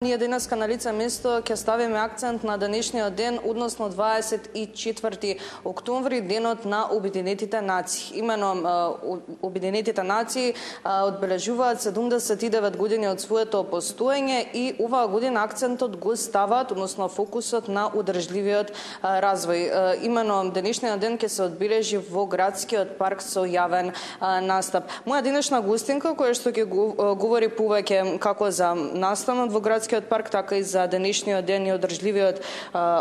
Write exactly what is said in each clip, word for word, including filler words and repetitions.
Ние денеска на лице место ќе ставиме акцент на денешниот ден, односно дваесет и четврти октомври, денот на Обединетите нации. Имено Обединетите нации одбележуваат седумдесет и девет години од своето постоење и оваа година акцентот го ставаат, односно фокусот на одржливиот развој. Имено денешниот ден ќе се одбележи во градскиот парк со јавен настап. Моја денешна гостинка, која што ќе говори повеќе како за настанот во градскиот парк, така и за денешниот ден и одржливиот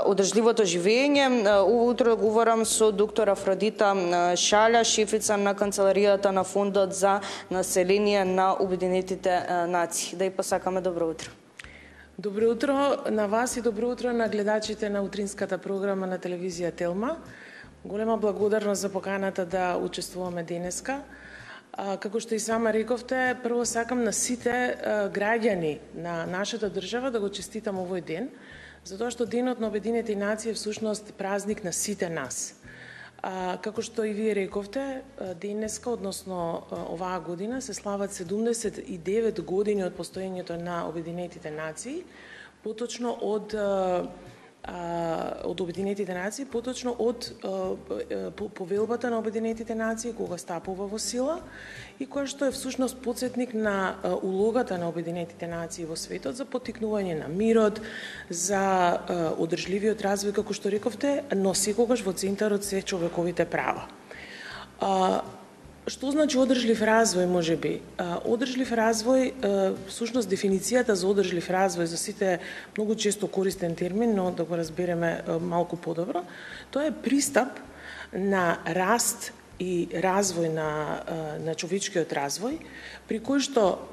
одржливото живење. Ово утро говорам со доктор Афродита Шаља, шефица на канцеларијата на Фондот за население на Обединетите нации. Да и посакаме добро утро. Добро утро на вас и добро утро на гледачите на утринската програма на телевизија Телма. Голема благодарност за поканата да учествуваме денеска. Како што и сама рековте, прво сакам на сите граѓани на нашата држава да го честитам овој ден, затоа што денот на Обединетите нации е всушност празник на сите нас. Како што и вие рековте, денеска, односно оваа година, се слават седумдесет и девет години од постоењето на Обединетите нации, поточно од од Обединетите нации, поточно од повелбата на Обединетите нации, кога стапува во сила, и која што е всушност потсетник на улогата на Обединетите нации во светот за поттикнување на мирот, за одржливиот развој, како што рековте, но секогаш во центарот се човековите права. Што значи одржлив развој, можеби? Одржлив развој, всушност дефиницијата за одржлив развој, за сите многу често користен термин, но да го разбереме малку подобро, тоа е пристап на раст и развој на, на човечкиот развој, при кој што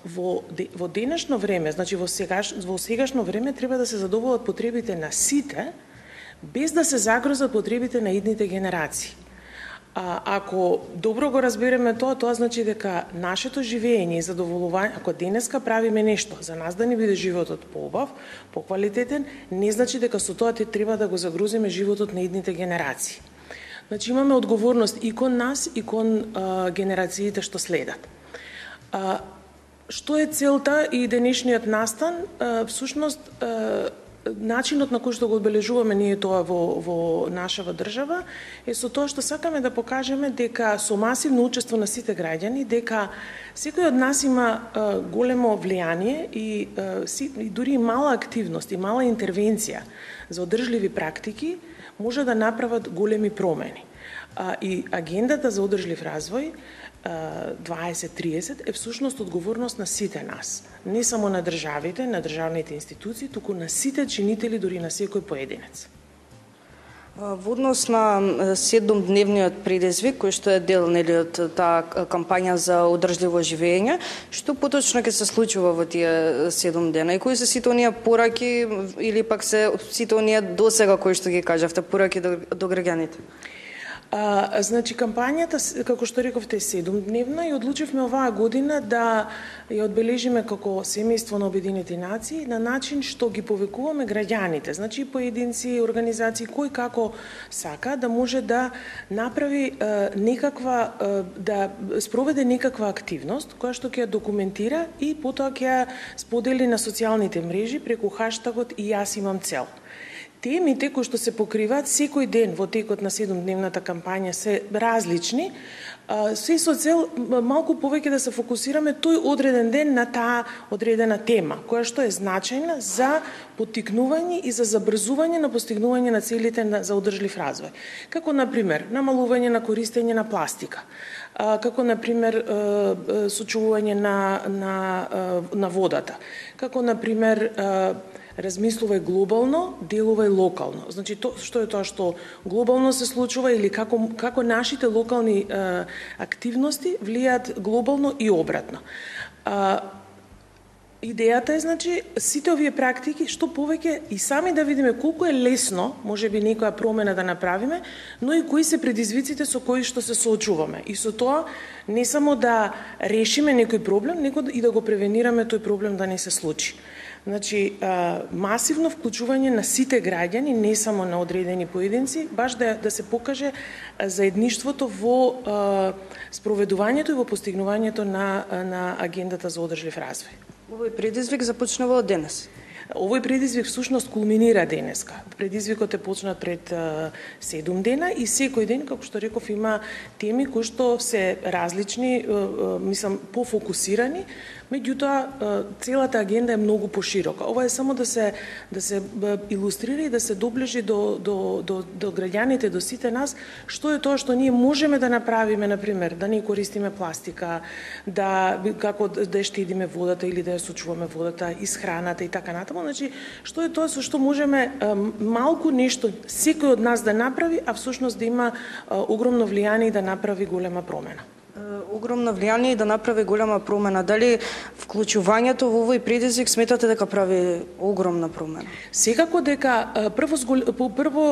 во, во денешно време, значи во, сегаш, во сегашно време, треба да се задоволат потребите на сите, без да се загрозат потребите на идните генерации. А, ако добро го разбереме тоа, тоа значи дека нашето живење и задоволување, ако денеска правиме нешто за нас да ни биде животот поубав, поквалитетен, не значи дека со тоа те треба да го загрузиме животот на идните генерации. Значи имаме одговорност и кон нас и кон а, генерациите што следат. А, што е целта и денешниот настан? А, всушност, а, начинот на кој што го одбележуваме ние тоа во, во нашава држава е со тоа што сакаме да покажеме дека со масивно учество на сите граѓани, дека секој од нас има а, големо влијание и, а, си, и дури и мала активност и мала интервенција за одржливи практики може да направат големи промени. А, и агендата за одржлив развој дваесет тридесет е всушност одговорност на сите нас. Не само на државите, на државните институции, туку на сите чинители, дури на секој поединец. Во однос на седумдневниот предизвик, кој што е дел нели од таа кампања за одржливо живење, што поточно ќе се случува во тие седум дена и кои се сите оние пораки или пак се сите оние досега кои што ги кажавте пораки до, до граѓаните? А, значи, кампањата, како што рековте, е седумдневна и одлучивме оваа година да ја одбележиме како семејство на Обединетите нации на начин што ги повекуваме граѓаните, значи поединци, организации, кој како сака да може да направи е, некаква, е, да спроведе некаква активност, која што ќе ја документира и потоа ќе ја сподели на социјалните мрежи преку хаштагот и јас имам цел. Темите кои што се покриваат секој ден во текот на седумдневната кампања се различни, се со цел малку повеќе да се фокусираме тој одреден ден на таа одредена тема, која што е значајна за поттикнување и за забрзување на постигнување на целите за одржлив развој. Како, например, намалување на користење на пластика, како, например, сочувување на, на, на водата, како, например, размислувај глобално, делувај локално. Значи, то, што е тоа што глобално се случува или како, како нашите локални е, активности влијаат глобално и обратно. А, идејата е, значи, сите овие практики, што повеќе и сами да видиме колку е лесно, може би некоја промена да направиме, но и кои се предизвиците со кои што се соочуваме. И со тоа не само да решиме некој проблем, него и да го превенираме тој проблем да не се случи. Значи, масивно вклучување на сите граѓани, не само на одредени поединци, баш да, да се покаже заедништвото во спроведувањето и во постигнувањето на, на агендата за одржлив развој. Овој предизвик започнува од денес. Овој предизвик всушност кулминира денеска. Предизвикот е почнат пред седум дена и секој ден, како што реков, има теми кои што се различни, мислам, пофокусирани, меѓутоа целата агенда е многу поширока. Ова е само да се да се илустрира и да се доближи до до до до граѓаните, до сите нас, што е тоа што ние можеме да направиме, на пример, да не користиме пластика, да како да ја штедиме водата или да ја сочуваме водата, исхраната и така натаму. Значи, што е тоа со што можеме малку нешто секој од нас да направи, а всушност да има огромно влијание и да направи голема промена. Огромно влијание и да направи голема промена. Дали вклучувањето во овој предизвик сметате дека прави огромна промена? Секако дека прво прво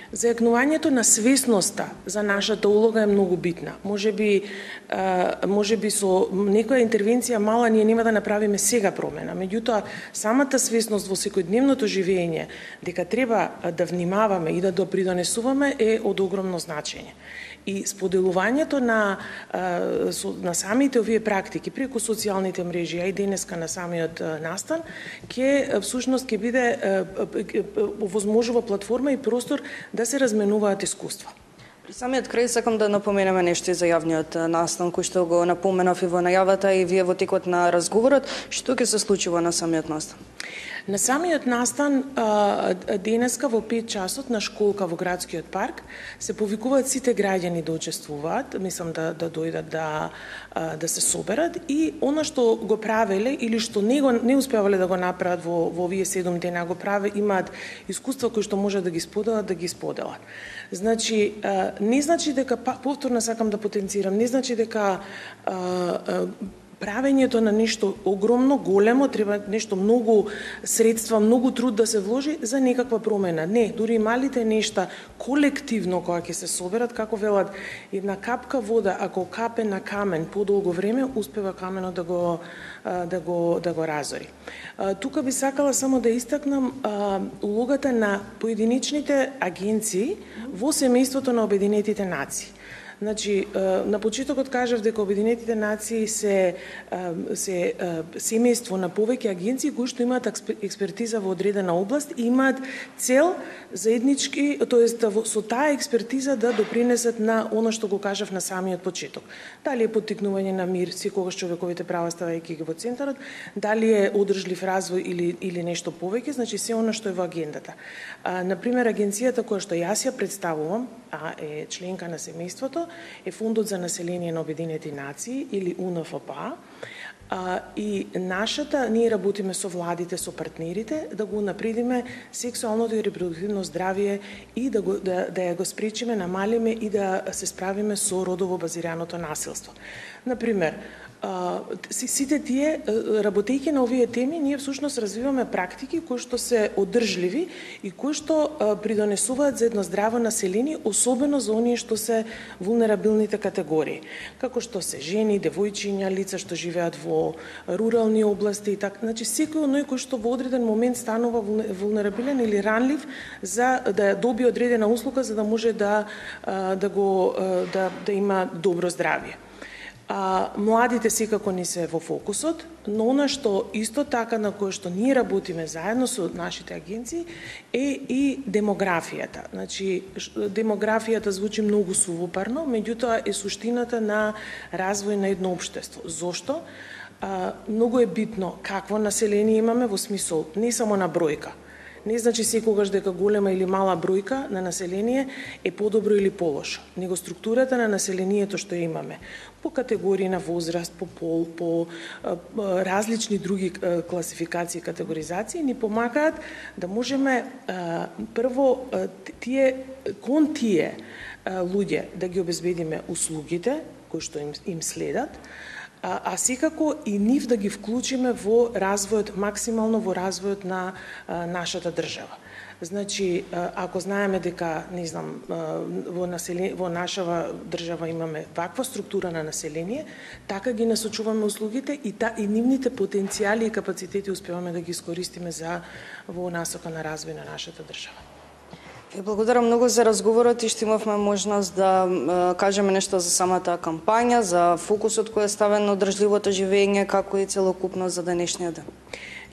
зајакнувањето на свесноста за нашата улога е многу битна. Можеби можеби со некоја интервенција мала ние нема да направиме сега промена, меѓутоа самата свесност во секојдневното живење дека треба да внимаваме и да допридонесуваме е од огромно значење. И споделувањето на на самите овие практики преку социјалните мрежи, а и денеска на самиот настан, ќе всушност ќе биде овозможува платформа и простор да се разменуваат искуства. При самиот крај сакам да напоменеме нешто и за јавниот настан, кој што го напоменав и во најавата и вие во текот на разговорот. Што ќе се случува на самиот настан? На самиот настан денеска во пет часот на школка во градскиот парк се повикуваат сите граѓани да учествуваат, мислам да да дојдат да да се соберат и она што го правеле или што не го не успевале да го направат во во овие седум дена го праве, имаат искуства кои што може да ги споделат, да ги споделат. Значи не значи дека повторно сакам да потенцирам, не значи дека правењето на нешто огромно, големо, треба нешто многу средства, многу труд да се вложи за некаква промена. Не, дури малите нешта колективно кога ќе се соберат, како велат, една капка вода ако капе на камен подолго време, успева каменот да го да го да го разори. Тука би сакала само да истакнам улогата на поединечните агенции во семејството на Обединетите нации. Значи, на почетокот кажав дека Обединетите нации се се семејство на повеќе агенции кои што имаат експертиза во одредена област и имаат цел заеднички, тоест со таа експертиза да допринесат на она што го кажав на самиот почеток. Дали е поттикнување на мир, секогаш човековите права ставајќи ги во центарот, дали е одржлив развој или или нешто повеќе, значи се она што е во агендата. На пример, агенцијата која што јас ја представувам, а е членка на семејството, е Фондот за население на Обединети нации или У Н Ф П А. А, и нашата, ние работиме со владите, со партнерите, да го напредиме сексуалното и репродуктивно здравје и да, го, да, да ја го спречиме, намалиме и да се справиме со родово базираното насилство. Например, сите тие, работејќи на овие теми, ние всушност развиваме практики кои што се одржливи и кои што придонесуваат за едно здраво население, особено за оние што се вулнерабилните категории, како што се жени, девојчиња, лица што живеат во рурални области и така. Значи секој оној кој што во одреден момент станува вулнерабилен или ранлив за да добие одредена услуга за да може да да го да да има добро здравје. А, младите секако не се во фокусот, но она што исто така на кое што ние работиме заедно со нашите агенции е и демографијата. Значи, демографијата звучи многу сувопарно, меѓутоа е суштината на развој на едно општество. Зошто? А, многу е битно какво население имаме во смисол не само на бројка. Не значи секогаш дека голема или мала бројка на население е подобро или полошо, него структурата на населението што имаме по категории на возраст, по пол, по а, различни други а, класификации и категоризации ни помагаат да можеме а, прво а, тие кон тие а, луѓе да ги обезбедиме услугите кои што им, им следат, А, а секако и нив да ги вклучиме во развојот, максимално во развојот на а, нашата држава. Значи, а, ако знаеме дека, не знам, а, во, население, во нашава држава имаме ваква структура на население, така ги насочуваме услугите и, та, и нивните потенцијали и капацитети успеваме да ги искористиме за во насока на развој на нашата држава. Ви благодарам многу за разговорот и што имавме можност да е, кажеме нешто за самата кампања, за фокусот кој е ставен на одржливото живење, како и целокупно за денешниот ден.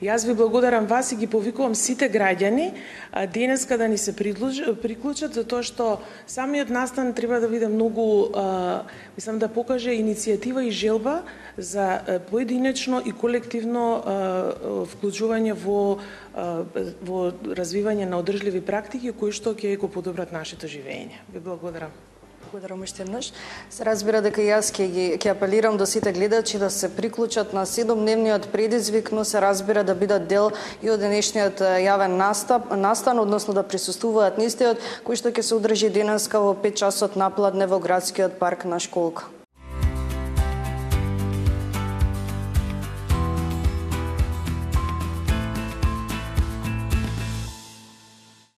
Јас ви благодарам вас и ги повикувам сите граѓани денеска да ни се приклучат, затоа што самиот настан треба да биде многу, мислам, да покаже иницијатива и желба за поединечно и колективно вклучување во во развивање на одржливи практики кои што ќе го подобрат нашето живење. Ви благодарам. Благодарам уште еднаш. Се разбира дека јас ќе ги ќе апелирам до сите гледачи да се приклучат на седомдневниот предизвик, но се разбира да бидат дел и од денешниот јавен настап, настан, односно да присуствуваат на истиот, кој што ќе се одржи денеска во пет часот напладне во градскиот парк на Школка.